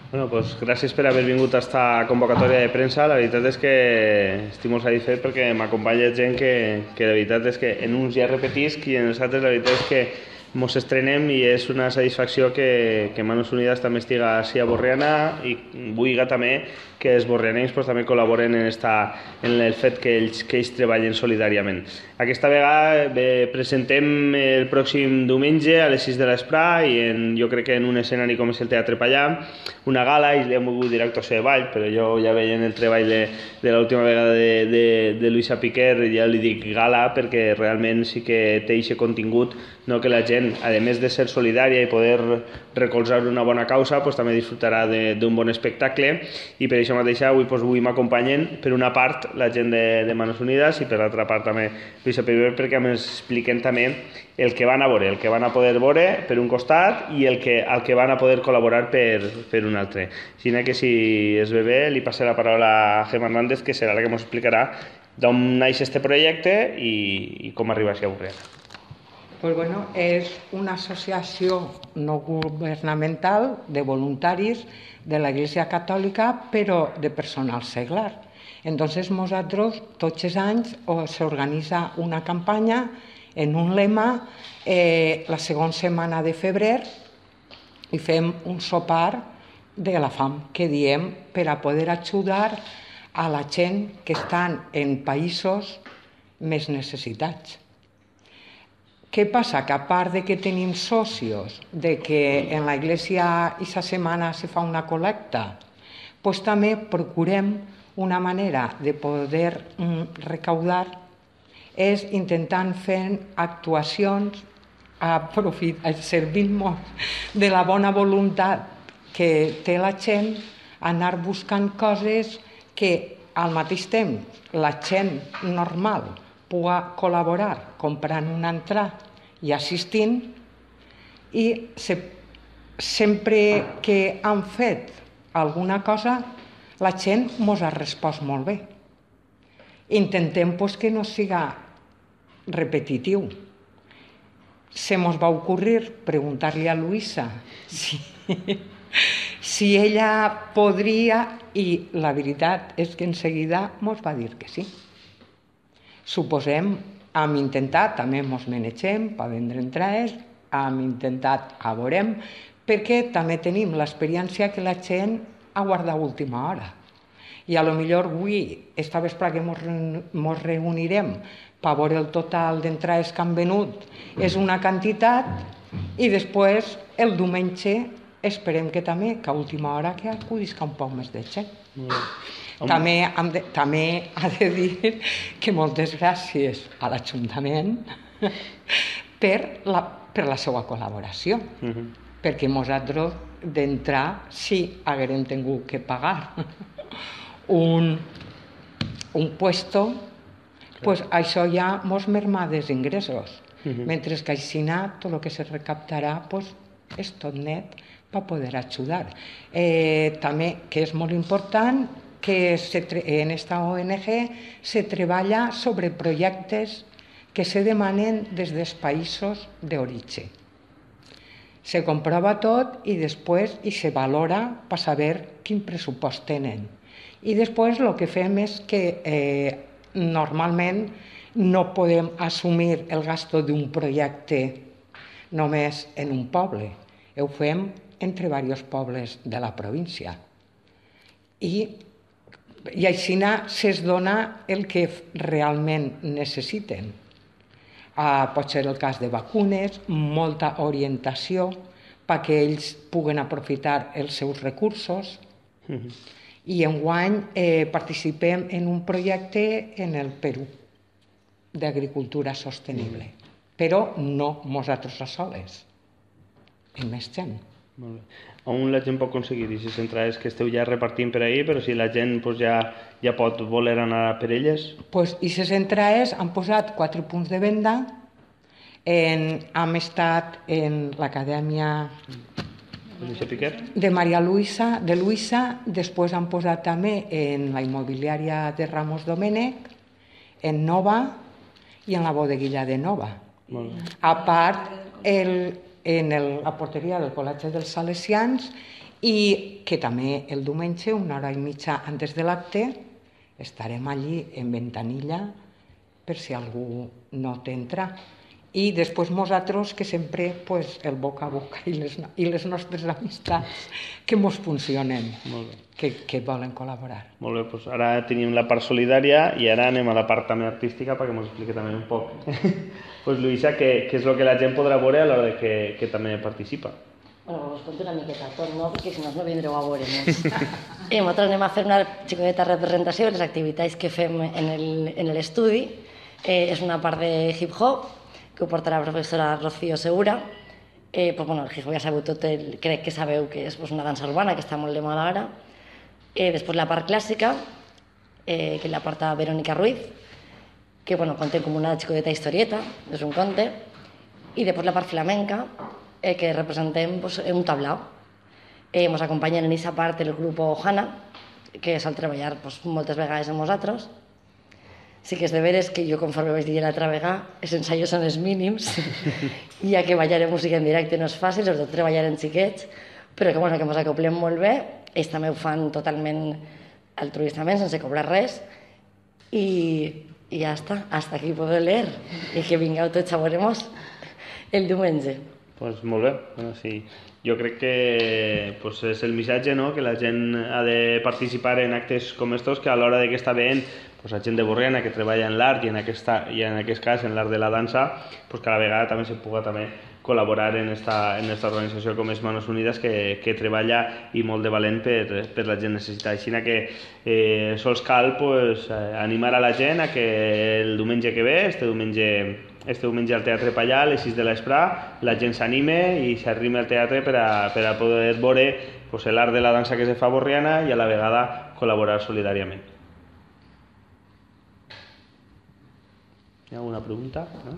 Bueno, pues gràcies per haver vingut a esta convocatòria de premsa. La veritat és que estic molt satisfet perquè m'acompanya gent que la veritat és que en uns ja repetisc i en els altres la veritat és que mos estrenem i és una satisfacció que Manos Unidas també estiga així a Borriana i vull també que els borrianencs pues, també col·laboren en el fet que ells treballen solidàriament. Aquesta vegada presentem el pròxim diumenge a les 6 de l'Esprà i jo crec que en un escenari com és el Teatre Pallà, una gala, i li hem volgut dir actuació de ball, però jo ja veient el treball de l'última vegada de Luisa Piquer, ja li dic gala perquè realment sí que té aquest contingut, no? Que la gent, a més de ser solidària i poder recolzar una bona causa, pues, també disfrutarà d'un bon espectacle i per això mateix avui m'acompanyen per una part la gent de Manos Unidas i per l'altra part també Luisa Piquer perquè m'expliquen també el que van a veure, el que van a poder veure per un costat i el que van a poder col·laborar per un altre. Així que si es ve bé li passo la paraula a Gemma Hernández que serà la que ens explicarà d'on naix este projecte i com arriba a Borriana. Pues bueno, és una associació no governamental de voluntaris de la Iglesia Catòlica, però de personal seglar. Entonces, nosaltres, tots els anys, s'organitza una campanya en un lema la segona setmana de febrer i fem un sopar de la fam, que diem per a poder ajudar a la gent que estan en països més necessitats. Què passa? Que a part de que tenim socios, de que en la iglesia aquesta setmana se fa una col·lecta, doncs també procurem una manera de poder recaudar és intentant fer actuacions servint-nos de la bona voluntat que té la gent, anar buscant coses que al mateix temps la gent normal pugui col·laborar comprant una entrada i assistint, i sempre que han fet alguna cosa la gent ens ha respost molt bé. Intentem que no siga repetitiu. Se mos va ocurrir preguntar-li a Luisa si ella podria, i la veritat és que en seguida mos va dir que sí. Suposem, hem intentat, també mos manegem per vendre entrades, hem intentat, a veurem, perquè també tenim l'experiència que la gent ha guardat última hora. I a lo millor avui, esta vespre que mos reunirem per veure el total d'entrades que han venut, és una quantitat, i després el diumenge esperem que també, que a última hora que acudisca un poc més de gent. També ha de dir que moltes gràcies a l'Ajuntament per la seva col·laboració, perquè nosaltres d'entrar sí haguérem tingut que pagar un puesto, pues això ja mos merma dels ingressos, mentre que així tot el que se recaptarà és tot net per poder ajudar. També, que és molt important, que en esta ONG se treballa sobre projectes que se demanen des dels països d'origen. Se comprova tot i després se valora per saber quin pressupost tenen. I després el que fem és que normalment no podem assumir el gasto d'un projecte només en un poble. Ho fem entre diversos pobles de la província. I així se'ls dona el que realment necessiten. Pot ser el cas de vacunes, molta orientació perquè ells puguen aprofitar els seus recursos. I enguany participem en un projecte en el Perú d'agricultura sostenible, però no nosaltres a soles, amb més gent. Molt bé. On la gent pot aconseguir aquestes entrades que esteu ja repartint per ahir, però si la gent ja pot voler anar per elles? Aquestes entrades han posat 4 punts de venda. Hem estat en l'Acadèmia de Maria Luisa, després han posat també en la immobiliària de Ramos Domènech, en Nova i en la bodeguilla de Nova. A part, en la porteria del Col·legi dels Salesians i que també el diumenge, 1h30 antes de l'acte, estarem allí en ventanilla per si algú no t'entra. I després nosaltres, que sempre el boca a boca i les nostres amistats que mos funcionen, que volen col·laborar. Molt bé, doncs ara tenim la part solidària i ara anem a la part també artística perquè mos expliqui també un poc. Pues Luisa, què és el que la gent podrà veure a l'hora que també participa? Bueno, us conto una miqueta tot, no? Perquè si no vindreu a veure-nos. Nosaltres anem a fer una xicoteta representació de les activitats que fem en l'estudi. És una part de hip-hop que ho porta la professora Rocío Segura. El hip-hop ja sabeu tot, crec que sabeu que és una dansa urbana que està molt de moda ara. Després la part clàssica, que la porta Verónica Ruiz, que conté com una xicoteta historieta, és un conte. I després la part flamenca, que representem un tablau. Ens acompanyen en aquesta part el grup Ohana, que sol treballar moltes vegades amb nosaltres. Sí que és de veres que jo, conforme vaig dir l'altra vegada, els ensaios són els mínims, ja que ballar música en directe no és fàcil, sobretot treballar en xiquets, però que ens acoplem molt bé. Ells també ho fan totalment altruistament, sense cobrar res, i ja està, hasta aquí puedo leer, i que vingueu tots a veure-nos el diumenge. Doncs molt bé, sí. Jo crec que és el missatge, que la gent ha de participar en actes com estos, que a l'hora que està veient la gent de Borriana que treballa en l'art i en aquest cas en l'art de la dansa, que a la vegada també se puga col·laborar en esta organització com és Manos Unides, que treballa i molt de valent per la gent necessitada. Així que sols cal animar a la gent a que el diumenge que ve, este diumenge al Teatre Pallà, a les 6 de l'Esprà, la gent s'anime i s'arrime al teatre per a poder veure l'art de la dansa que se fa a Borriana i a la vegada col·laborar solidàriament. Hi ha alguna pregunta? No?